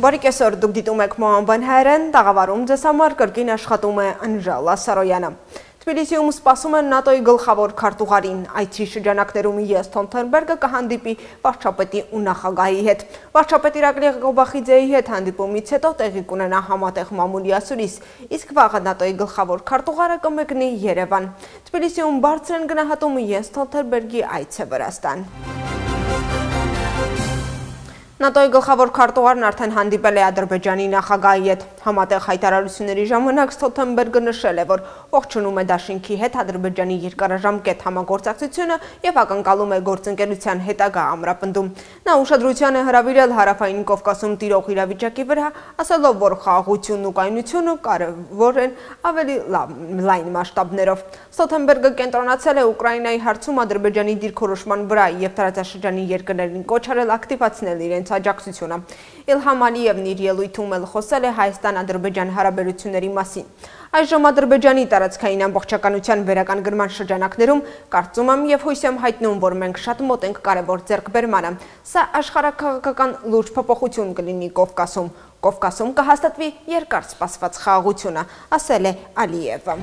Բարի կեսօր, դուք դիտում եք Մոհամբան հայերեն, տաղավարում ձեզ համար կրկին աշխատում է Անժելա Սարոյանը։ Թբիլիսիում սպասում են ՆԱՏՕ-ի գլխավոր քարտուղարին, այցի շրջանակներում Յենս Ստոլտենբերգը կհանդիպի վարչապետի ու նախագահի հետ։ Վարչապետ Իրակլի Ղոբախիձեի հետ հանդիպումից հետո տեղի կունենա համատեղ մամուլի ասուլիս, իսկ վաղը ՆԱՏՕ-ի գլխավոր քարտուղարը կմեկնի Երևան։ Թբիլիսիում բարձր են գնահատում Յենս Ստոլտենբերգի այցը Վրաստան։ ՆԱՏՕ-ի գլխավոր քարտուղարն արդեն հանդիպել է Ադրբեջանի նախագահի հետ։ Համատեղ հայտարարությունների ժամանակ Ստոլտենբերգը նշել է, որ ողջունում է դաշինքի հետ Ադրբեջանի երկարաժամկետ համագործակցությունը եւ ակնկալում է գործընկերության հետագա ամրապնդում։ Նա ուշադրության է հրավիրել Հարավային Կովկասում տիրող իրավիճակի վրա, ասելով, որ խաղաղությունն ու կայունությունը կարևոր են ավելի լայն մասշտաբներով։ Ստոլտենբերգը կենտրոնացել է Ուկրաինայի հարցում Ադրբեջանի դիրքորոշման վրա եւ տարածաշրջանի երկրներին կոչ արել ակտիվացնել իրենց աջակցությունը։ Իլհամ Ալիևն իր ելույթում էլ խոսել է Հայաստան-Ադրբեջան հարաբերությունների մասին։ Այժմ Ադրբեջանի տարածքային ամբողջականության վերականգնման շրջանակներում կարծում եմ եւ հույս եմ հայտնում, որ մենք շատ մոտ ենք կարևոր ձեռքբերմանը։ Սա աշխարհաքաղաքական լուրջ փոփոխություն կլինի Կովկասում։ Կովկասում կհաստատվի երկար սպասված խաղաղությունը, ասել է Ալիևը։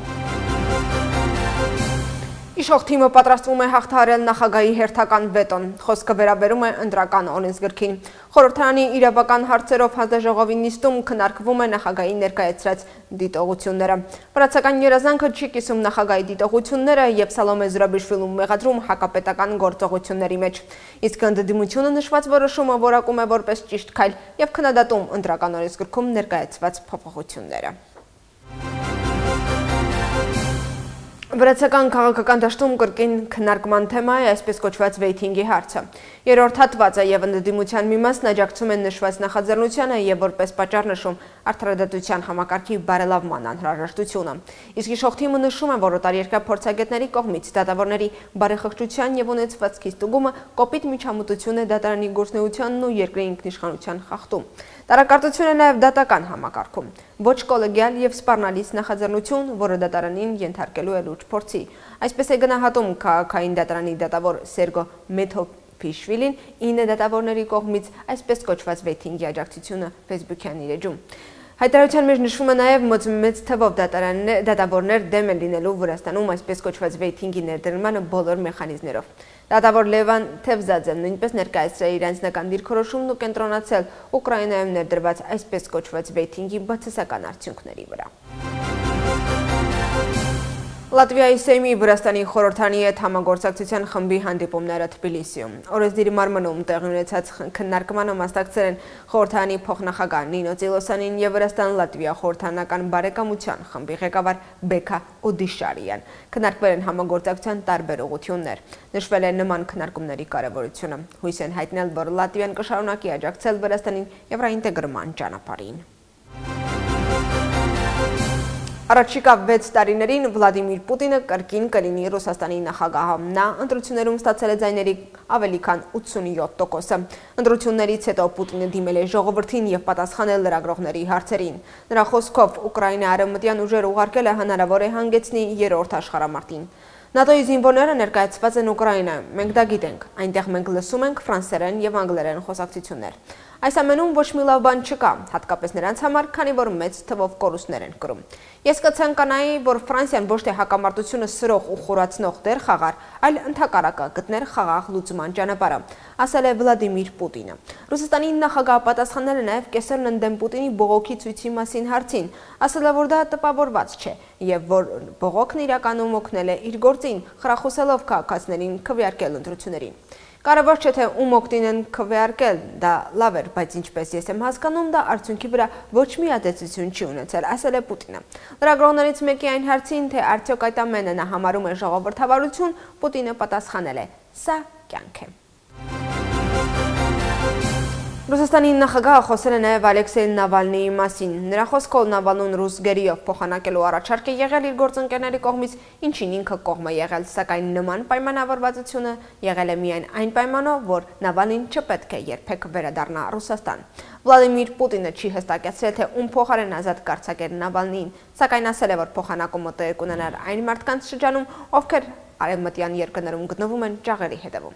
Իշխող թիմը պատրաստվում է հաղթահարել նախագահի հերթական վետոն, խոսքը վերաբերում է ընտրական օրենսգրքին։ Խորհրդարանի իրավական հարցերով հանձնաժողովի նիստում քննարկվում է նախագահի ներկայացրած դիտողությունները։ Վրացական երազանքը չի կիսում նախագահի դիտողությունները եւ Սալոմե Զուրաբիշվիլուն մեղադրում հակապետական գործողությունների մեջ։ Իսկ ընդդիմությունը նշված որոշումը որակում է որպես ճիշտ քայլ եւ քննադատում ընտրական օրենսգրքում ներկայացված փոփոխությունները։ Վրացական քաղաքական դաշտում կրկին քննարկման թեմա է այսպես կոչված վեյթինգի հարցը։ Երրորդ հատվածը եւ ընդդիմության մի մասն աջակցում են նշված նախաձեռնությանը եւ որպես պատճառ նշում արդարադատության համակարգի բարելավման անհրաժեշտությունը։ Իսկ իշխող թիմը նշում է, որ օտարերկրյա փորձագետների կողմից դատավորների բարեխղճության եւ ունեցվածքի ստուգումը կոպիտ միջամտություն է դատարանի գործունեությանն ու երկրի ինքնիշխանության խախտում։ Տարակարծություն է նաև դատական համակարգում։ Ոչ կոլեգիալ եւ սպառնալից նախաձեռնություն, որը դատարանին ենթարկելու է լուրջ փորձի։ Այսպես է գնահատում քաղաքային դատարանի դատավոր Սերգո Մեթոփիշվիլին 9 դատավորների կողմից այսպես կոչված վեյթինգի աջակցությունը Facebook-յան իր էջում։ Հայտարարության մեջ նշվում է նաև մեծ թվով դատավորներ դեմ են լինելու Վրաստանում այսպես կոչված վեյթինգի ներդրմանը բոլոր մեխանիզմներով։ Դատավոր Լևան Թևզաձեն նույնպես ներկայացրել իր անձնական դիրքորոշումն ու կենտրոնացել Ուկրաինայում ներդրված այսպես կոչված վեյթինգի բացասական արդյունքների վրա։ Լատվիայի Սեյմի Վրաստանի խորհրդարանի հետ համագործակցության խմբի հանդիպումները Թբիլիսիում։ Օրեսդիրի մարմնում տեղի ունեցած քննարկմանը մասնակցել են խորհրդարանի փոխնախագահ Նինո Ծիլոսյանին եւ Վրաստան-Լատվիա խորհրդարանական բարեկամության խմբի ղեկավար Բեկա Օդիշարյան։ Քննարկվել են համագործակցության տարբեր ուղղություններ։ Նշվել է նման քննարկումների կարևորությունը։ Հույս են հայտնել, որ Լատվիան կշարունակի աջակցել Վրաստանին եվրոինտեգրման ճանապարհին։ Առաջիկա 6 տարիներին Վլադիմիր Պուտինը կրկին կլինի Ռուսաստանի նախագահը։ Նա ընտրություններում ստացել է ձայների ավելի քան 87%։ Ընտրություններից հետո Պուտինը դիմել է ժողովրդին եւ պատասխանել լրագրողների հարցերին։ Նրա խոսքով Ուկրաինա արևմտյան ուժեր ուղարկել է հնարավոր է հանգեցնի երրորդ աշխարհամարտին։ ՆԱՏՕ-ի զինվորները ներկայացված են Ուկրաինայում, մենք դա գիտենք, այնտեղ մենք լսում ենք ֆրանսերեն եւ անգլերեն խոսակցություններ։ Այս ամենում ոչ մի լավ բան չկա, հատկապես նրանց համար, քանի որ մեծ թվով կորուստներ են կրում։ Ես կցանկանայի, որ Ֆրանսիան ոչ թե հակամարտությունը սրող ու խորացնող դեր խաղար, այլ ընդհակառակը գտներ խաղաղ լուծման ճանապարհը, ասել է Վլադիմիր Պուտինը։ Ռուսաստանի նախագահը պատասխանել է նաև կեսերն ընդդեմ Պուտինի բողոքի ցույցի մասին հարցին, ասել է, որ դա տպավորված չէ եւ որ բողոքն իրականում օգնել է իր գործին, խրախուսելով քաղաքացիներին քվեարկել ընտրություններին։ Կարևոր չէ թե ում օգտին են քվեարկել, դա լավ էր, բայց ինչպես ես եմ հասկանում, դա արդյունքի վրա ոչ մի ազդեցություն չի ունեցել, ասել է Պուտինը։ Լրագրողներից մեկի այն հարցին, թե արդյոք այդ ամենը նա համարում է ժողովրդավարություն, Պուտինը պատասխանել է. «Սա կյանք է»։ Ռուսաստանի նախագահը խոսել է նաև Ալեքսեյ Նավալնիի մասին։ Նրա խոսքով Նավալնուն ռուս գերիով փոխանակելու առաջարկ է եղել իր գործընկերների կողմից, ինչին ինքը կողմ է եղել, սակայն նման պայմանավորվածությունը եղել է միայն այն պայմանով, որ Նավալնին չպետք է երբեք վերադառնա Ռուսաստան։ Վլադիմիր Պուտինը չի հստակեցրել, թե ում փոխարեն ազատ կարձակեր Նավալնիին, սակայն ասել է, որ փոխանակումը տեղի կունենար այն մարդկանց շրջանում, ովքեր արևմտյան երկրներում գտնվում են ճաղերի հետևում։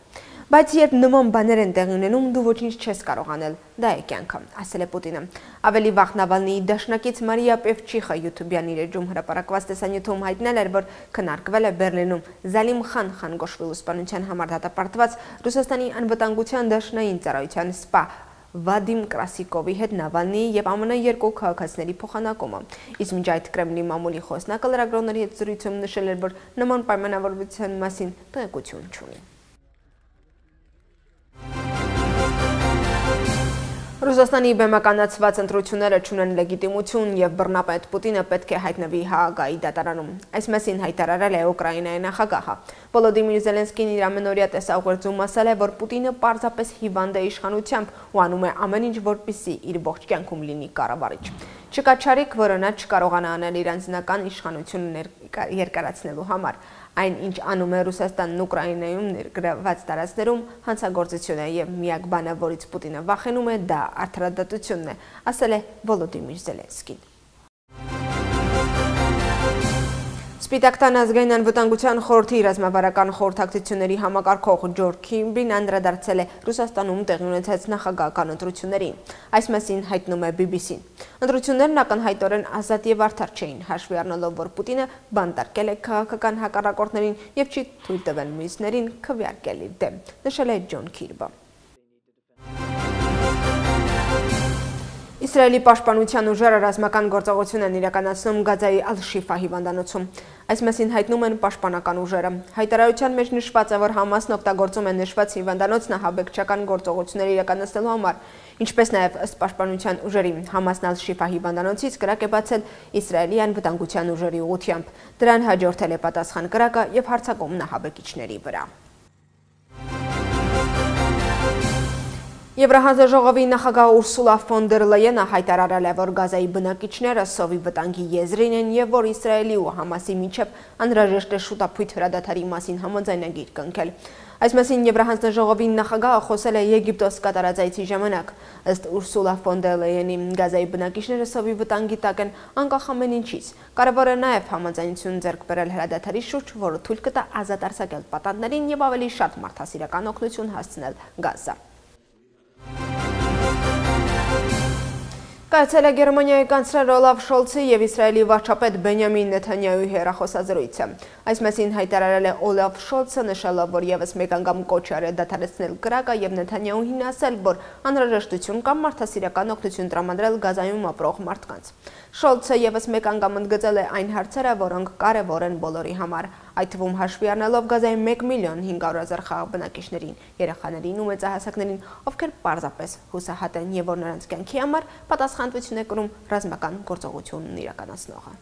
Բայց երբ նման բաներ են տեղի ունենում, դու ոչինչ չես կարող անել, դա է կյանքը, ասել է Պուտինը։ Ավելի վաղ Նավալնիի դաշնակից Մարիա Պևչիխը YouTube-յան իր էջում հրապարակված տեսանյութում հայտնել էր, որ քննարկվել է Բեռլինում Զալիմ Խան գոշվելու սպանության համար դատապարտված Ռուսաստանի անվտանգության դաշնային ծառայության սպա Վադիմ Կրասիկովի հետ Նավալնիի եւ ԱՄՆ երկու քաղաքացիների փոխանակումը։ Իսկ մինչ այդ Կրեմլի մամուլի խոսնակը լրագրողների հետ զրույցում նշել էր, որ նման պայմանավորվածության մասին տեղեկություն չունի։ Ռուսաստանի բեմականացված ընտրությունները չունեն լեգիտիմություն եւ բռնապետ Պուտինը պետք է հայտնվի Հաագայի դատարանում։ Այս մասին հայտարարել է Ուկրաինայի նախագահը։ Վոլոդիմիր Զելենսկին իր ամենօրյա տեսաուղերձում ասել է, որ Պուտինը պարզապես հիվանդ է իշխանությամբ ու անում է ամեն ինչ, որպեսզի իր ողջ կյանքում լինի կառավարիչ։ Չկա չարիք, որը նա չկարողանա անել իր անձնական իշխանությունը երկարացնելու համար։ Այն, ինչ անում է Ռուսաստանն Ուկրաինայում ներգրավված տարածքներում, հանցագործություն է եւ միակ բանը, որից Պուտինը վախենում է, դա արդարադատությունն է, ասել է Վոլոդիմիր Զելենսկին։ Սպիտակ տան ազգային անվտանգության խորհրդի ռազմավարական խորհրդակցությունների համակարգող Ջորջ Քիմբին անդրադարձել է Ռուսաստանում տեղի ունեցած նախագահական ընտրություններին։ Այս մասին հայտնում է BBC-ն։ Ընտրություններն ակնհայտորեն ազատ եւ արդար չէին, հաշվի առնելով, որ Պուտինը բանտարկել է քաղաքական հակառակորդներին եւ չի թույլ տվել մյուսներին քվեարկել իր դեմ, նշել է Ջոն Քիրբը։ Իսրայելի պաշտպանության ուժերը ռազմական գործողություն են իրականացնում Գազայի Ալ-Շիֆա հիվանդանոցում։ Այս մասին հայտնում են պաշտպանական ուժերը։ Հայտարարության մեջ նշված է, որ Համասն օգտագործում է նշված հիվանդանոցն ահաբեկչական գործողություններ իրականացնելու համար, ինչպես նաև ըստ պաշտպանության ուժերի Համասն Ալ-Շիֆա հիվանդանոցից կրակ է բացել Իսրայելի անվտանգության ուժերի ուղղությամբ։ Դրան հաջորդել է պատասխան կրակը եւ հարձակումն ահաբեկիչների վրա։ Եվրահանձաժողովի նախագահ Ուրսուլա ֆոն դեր Լայենը հայտարարել է, որ Գազայի բնակիչները սովի վտանգի եզրին են եւ որ Իսրայելի ու Համասի միջև անհրաժեշտ է շուտապույտ հրադադարի մասին համաձայնագիր կնքել։ Այս մասին Եվրահանձաժողովի նախագահը խոսել է Եգիպտոս կատարած այցի ժամանակ։ Ըստ Ուրսուլա ֆոն դեր Լայենի Գազայի բնակիչները սովի վտանգի տակ են անկախ ամեն ինչից։ Կարևոր է նաեւ համաձայնություն ձեռք բերել հրադադարի շուրջ, որը թույլ կտա ազատ արձակել պատանդներին եւ ավելի շատ մարդասիրական օգնություն հասցնել Գազա։ Կայացել է Գերմանիայի կանցլեր Օլաֆ Շոլցի եւ Իսրայելի վարչապետ Բենյամին Նեթանյահուի հեռախոսազրույցը։ Այս մասին հայտարարել է Օլաֆ Շոլցը, նշելով, որ եւս մեկ անգամ կոչ արել դադարեցնել կրակը եւ Նեթանյահուին ասել, որ անհրաժեշտություն կա մարդասիրական օգնություն տրամադրել Գազայում ապրող մարդկանց։ Շոլցը եւս մեկ անգամ ընդգծել է այն հարցերը, որոնք կարևոր են բոլորի համար, այդ թվում հաշվի առնելով Գազայի 1.5 միլիոն խաղաղ բնակիչներին, երեխաներին ու մեծահասակներին, ովքեր պարզապես հուսահատ են եւ որ նրանց կյանքի համար պատասխանատվություն է կրում ռազմական գործողությունն իրականացնողը։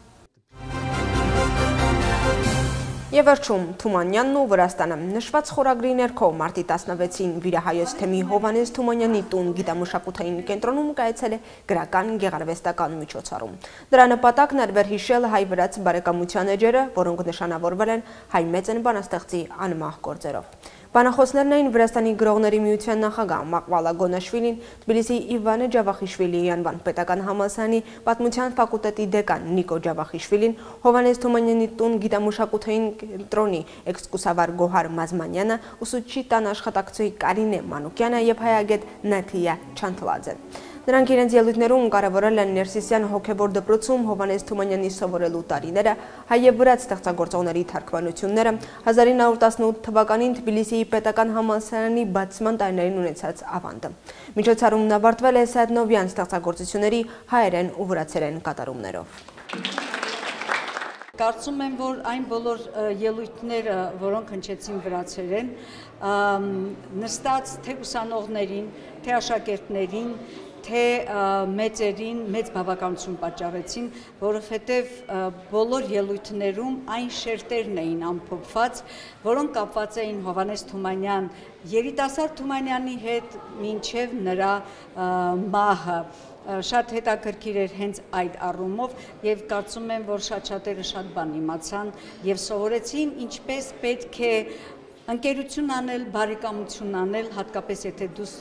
Եվ վերջում Թումանյանն ու Վրաստանը նշված խորագրի ներքո մարտի 16-ին Վիրահայոց թեմի Հովհաննես Թումանյանի տուն գիտամշակութային կենտրոնում կայացել է գրական գեղարվեստական միջոցառում։ Դրա նպատակն էր վերհիշել հայ-վրաց բարեկամության էջերը, որոնք նշանավորվել են հայ մեծն բանաստեղծի անմահ գործերով։ Բանախոսներն էին Վրաստանի գրողների միության նախագահ Մաղվալա Գոնաշվիլին, Թբիլիսի Իվանը Ջավախիշվիլիի անվան պետական համալսարանի պատմության ֆակուլտետի դեկան Նիկո Ջավախիշվիլին, Հովհաննես Թումանյանի տուն գիտամշակութային կենտրոնի էքսկուրսավար Գոհար Մազմանյանը, ուսուցչի տան աշխատակցուհի Կարինե Մանուկյանը եւ հայագետ Նաթիա Չանթլաձեն։ Նրանք իրենց ելույթներում կարևորել են Ներսիսյան հոգևոր դպրոցում Հովհաննես Թումանյանի սովորելու տարիները, հայ եւ վրաց ստեղծագործողների թարգմանությունները, 1918 թվականին Թբիլիսիի պետական համալսարանի բացման տարիներին ունեցած ավանդը։ Միջոցառումն ավարտվել է Սայդնովյան ստեղծագործությունների հայերեն ու վրացերեն կատարումներով։ Կարծում եմ, որ այն բոլոր ելույթները, որոնք հնչեցին վրացերեն, նստած թե ուսանողներին, թե աշակերտներին, թե մեծերին մեծ բավականություն պատճառեցին, որովհետև բոլոր ելույթներում այն շերտերն էին ամփոփված, որոնք կապված էին Հովհաննես Թումանյան երիտասարդ Թումանյանի հետ մինչև նրա մահը։ Շատ հետաքրքիր էր հենց այդ առումով եւ կարծում եմ, որ շատ-շատերը շատ բան իմացան եւ սովորեցին ինչպես պետք է ընկերություն անել, բարեկամություն անել, հատկապես եթե դու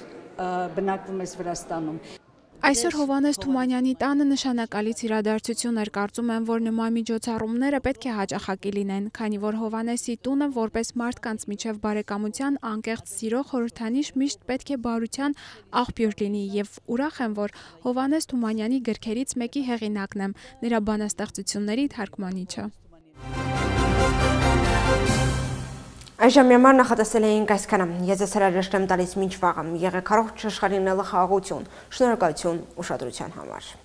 բնակվում ես Վրաստանում։ Այսօր Հովհաննես Թումանյանի տանը նշանակալից իրադարձություն էր, կարծում եմ, որ նման միջոցառումները պետք է հաճախակի լինեն, քանի որ Հովհաննեսի տունը որպես մարդկանց միջև բարեկամության անկեղծ սիրո խորհրդանիշ միշտ պետք է բարության աղբյուր լինի եւ ուրախ եմ, որ Հովհաննես Թումանյանի գրքերից մեկի հեղինակն եմ, նրա բանաստեղծությունների թարգմանիչը։ Այժմ համար նախատեսել էինք այսքանը։ Ես ձեզ հրաժեշտ եմ տալիս մինչ վաղը։ Եղեք առողջ, աշխարհին խաղաղություն։ Շնորհակալություն ուշադրության համար։